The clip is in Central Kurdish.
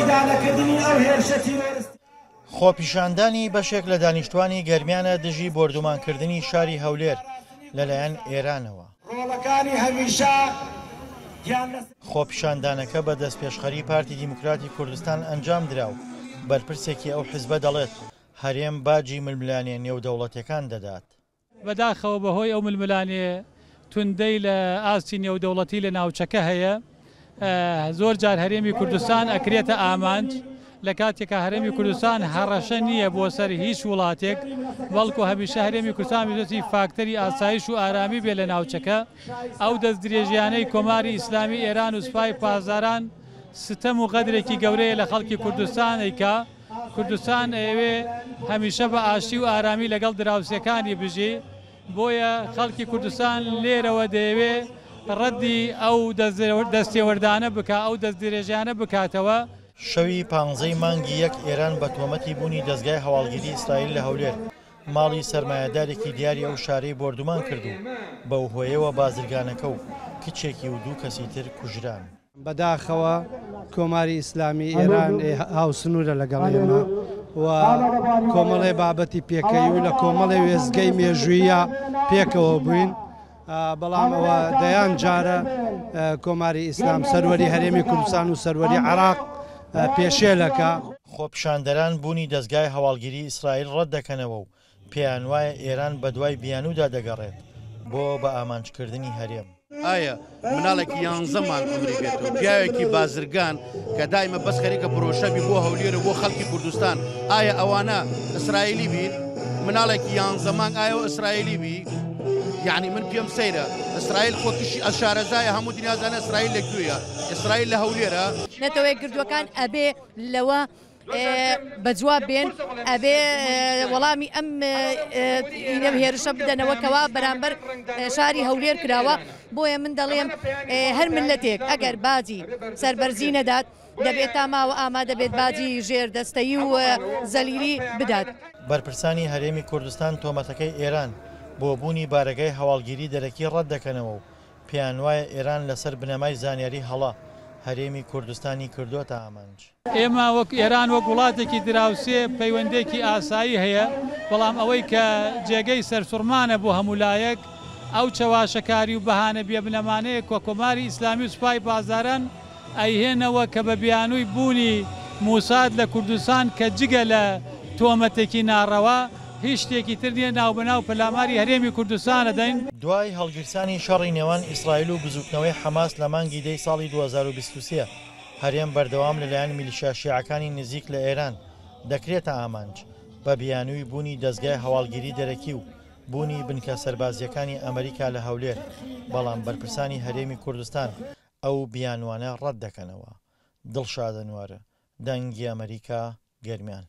ئیدانەکردنی ئەو هێرشە تیرۆرستییە. خۆپیشاندانی بەشێک لە دانیشتوانی گەرمیانە دژی بۆردومانکردنی شاری هەولێر لەلایەن ئێرانەوە. ڕۆڵەکانی هەمیشە گیان لەسەر. خۆپیشاندانەکە بە دەستپێشخەری پارتی دیموکراتی کوردستان ئەنجامدرا و بەرپرسێکی ئەو حزبە دەڵێت، هەرێم باجی ململانێ نێودەوڵەتیەکان دەدات. بەداخەوە بەهۆی ئەو ململانێ توندەی لە ئاستی نێودەوڵەتی لە ناوچەکە هەیە زۆر جار هەرێمی کوردستان ئەکرێتە ئامانج لە کاتێکا هەرێمی کوردستان هەڕەشە نییە بۆ سەر هیچ وڵاتێک بەڵکو هەمیشە هەرێمی کوردستان ویستی فاکتەری ئاسایش و ئارامی بێ لە ناوچەکە ئەو دەستدرێژیانەی کۆماری ئیسلامی ئێران و سوپای پاسداران ستەم و غەدرێکی گەورەیە لە خەڵکی کوردستان ئەیکا. کوردستان ئەیەوێ هەمیشە بە ئاشتی و ئارامی لەگەڵ دراوسێکانی بژی، بۆیە خەڵکی کوردستان لێرەوە دەیەوێ ڕەدی ئەو دەستێوەردانە بکا، ئەو دەستدرێژیانە بکاتەوە. شەوی پانزەی مانگی یەک ئێران بە تۆمەتی بوونی دەزگای هەواڵگیری ئیسرائیل لە هەولێر، ماڵی سەرمایەدارێکی دیاری ئەو شارەی بۆردومان کرد و بەو هۆیەوە بازرگانەکە و کچێکی و دوو کەسی تر کوژران. بەداخەوە کۆماری ئیسلامی ئێران هاوسنوورە لەگەڵ ئێمە و کۆمەڵێ بابەتی پێکەی و لە کۆمەڵێ وێستگەی مێژوویە پێکەوە بووین بەڵام ئەوە دەیان جارە کۆماری ئیسلام سەروەری هەرێمی کوردستان و سەروەری عراق پێشێلەکە. خۆپیشاندەران بوونی دەزگای هەواڵگیری ئیسرائیل ڕەتدەکەنەوە و پێیانوایە ئێران بەدوای بیانوودا دەگەڕێت بۆ بەئامانجکردنی هەرێم. ئایا مناڵێکی یانزە مانگ عومری بێت و پیاوێکی بازرگان کە دایمە بەس خەریکە پرۆشەبی بۆ هەولێر و بۆ خەڵکی کوردستان ئایا ئەوانە ئیسرائیلی بین مناڵێکی یانزە مانگ ئایا ئیسرائیلی بی یعنی من پێم سەیرە ئیسرائیل خۆ تووشی ئەشارەزایە هەموو دنیازانە ئیسرائیل لە کوێیە ئیسرائیل لە هەولێرە. نەتەوەیەکگرتووەکان ئەبێ لەوە بە جواب بێن ئەبێ وەڵامی ئەم هێرشە بدەنەوە کەوا بەرامبەر شاری هەولێر کراوە بۆیە من دەڵێم هەر ملەتێک ئەگەر باجی سەربەرزی نەدات دەبێت تا ماوە ئامادە بێت باجی ژێر دەستەیی و زەلیلی بدات. بەرپرسانی هەرێمی کوردستان تۆمەتەکەی ئێران بۆ بوونی بارەگای هەواڵگیری دەرەکی ڕەتدەکەنەوە و پێیانوایە ئێران لەسەر بنەمای زانیاری هەڵە هەرێمی کوردستانی کردۆتە ئامانج. ئێمە وەک ئێران وەک وڵاتێکی دراوسێ پەیوەندێکی ئاسایی هەیە، بەڵام ئەوەی کە جێگەی سەرسوڕمانە بۆ هەموو لایەک ئەو چەواشەکاری و بەهانە بێبنەمانەیە کە کۆماری ئیسلامی و سوپای پاسداران ئەیهێنەوە کە بە بیانووی بوونی موساد لە کوردستان کە جگە لە تۆمەتێکی ناڕەوا هیچ شتێکی تر نییە ناوبەناو پەلاماری هەرێمی کوردستان ئەدەین. دوای هەڵگیرسانی شەڕی نێوان ئیسرائیل و بزووتنەوەی حەماس لە مانگی دەی ساڵی 2023، هەرێم بەردەوام لەلایەن میلیشیا شیعەکانی نزیک لە ئێران دەکرێتە ئامانج بە بیانووی بوونی دەزگای هەواڵگیری دەرەکی و بوونی بنکە سەربازییەکانی ئەمریکا لە هەولێر، بەڵام بەرپرسانی هەرێمی کوردستان ئەو بیانوانە ڕەت دەکەنەوە. دڵشاد ئەنوەر، دەنگی ئەمەریکا، گەرمیان.